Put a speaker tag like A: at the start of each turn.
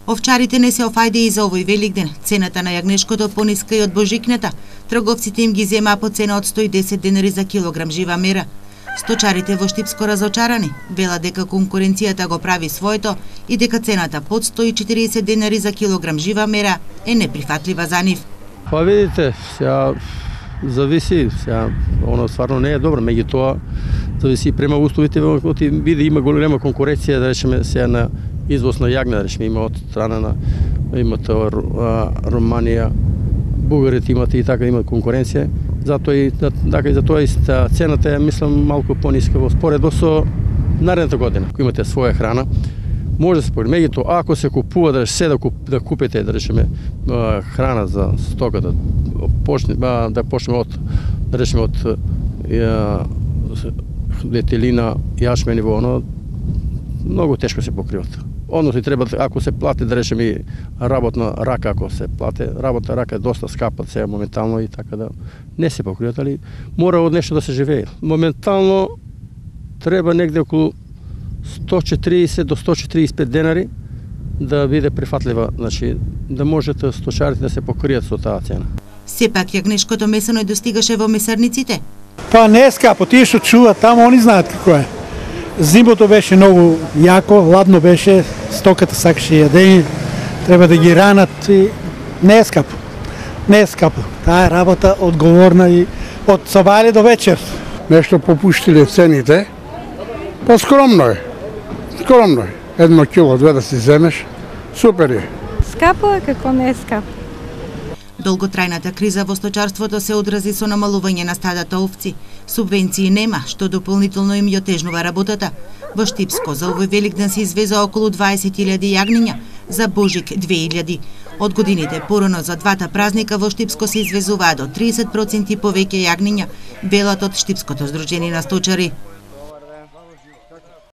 A: Овчарите не се офајде и за овој Великден. Цената на јагнешкото пониска и од божикната. Трговците им ги земаа по цена од 110 денари за килограм жива мера. Сточарите во Штипско разочарани, велат дека конкуренцијата го прави своето и дека цената под 140 денари за килограм жива мера е неприфатлива за нив.
B: Па видите, сега зависи, сега оно стварно не е добро, меѓутоа зависи према условите, биде има голема конкуренција, да речеме сега на извоз на јагне, да речеме, има од страна на имате Романија, бугарите имате и така имат конкуренција, затоа и цената е мислам малку пониска во споредба со наредната година. Ако имате своја храна, може да се спореди. Меѓутоа, ако се купува да купите, да речеме, храна за стока, да почнеме од, да речеме, од детелина, јашмен и воно, многу тешко се покриват. Односно треба, ако се плати, да речеме, работна рака, ако се плати, работна рака е доста скапа сега моментално и така да не се покриват, али мора од нешто да се живее. Моментално треба негде околу 140 до 145 денари да биде прифатлива, значи да можете сточарите да се покријат со таа цена.
A: Сепак јагнешкото месо не достигаше во месарниците.
C: Па не е скапо, тие што чуваат таму, они знаат како е. Зимото беше многу јако, ладно беше, стоката сакаше јадење, треба да ги ранат и не е скапо. Не е скапо. Таа е работа одговорна и од сабајле до вечер.
D: Нешто попуштиле цените, па скромно е. Скромно е. 1 кило, 2 да си земеш, супер е.
E: Скапо е, како не е скапо.
A: Долготрајната криза во сточарството се одрази со намалување на стадата овци. Субвенции нема, што дополнително им ја отежнува работата. Во Штипско за овој Великден се извеза околу 20.000 јагниња, за Божик 2.000. Од годините порано за двата празника во Штипско се извезуваа до 30% повеќе јагниња, велат од Штипското здружение на сточари.